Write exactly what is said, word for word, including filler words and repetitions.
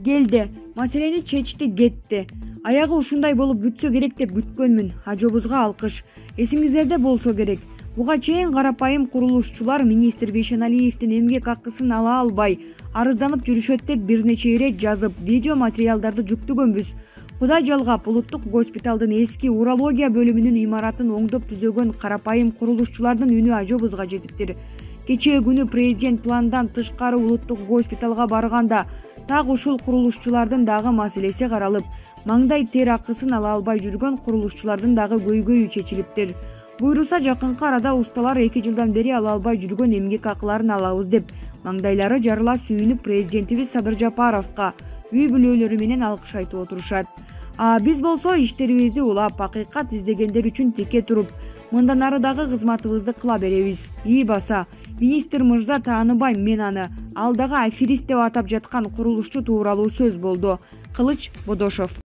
келди, маселени чечти, кетти. Аягы ушундай болуп бүтсө керек деп күткөнмүн. Ажобузга алкыш. Эсиңиздерде болсо керек. Буга чейин карапайым курулушчулар министр Бейшеналиевдин эмгек акысын ала албай арызданып жүрүшөт деп бир нече ирет жазып, видео материалдарды жүктөгөнбүз. Кудай жалгап, улуттук госпиталдын эски урология бөлүмүнүн имаратын оңдоп түзөгөн карапайым курулушчулардын үнү ажобузга жетиптир. Кечээ күнү президент пландан тышкары улуттук госпиталга барганда так ушул курулушчулардын дагы маселеси каралып, маңдай тер акысын ала албай жүргөн курулушчулардын дагы көйгөйү чечилиптир. Буйруса жакынкы арада усталар эки жылдан бери ала албай жүргөн эмгек акыларын алабыз деп, маңдайлары жарыла сүйүнүп президентибиз Садыр Жапаровго үй бүлөлөрү менен алкыш айтып отурушат. А биз болсо иштерибизди улап, акыйкат издегендер үчүн тике туруп, мындан ары дагы кызматыбызды кыла беребиз. И баса, министр мырза тааныбайм мен аны. Ал дагы аферист деп атап жаткан курулушчу тууралуу сөз болду. Кылыч Бодошов.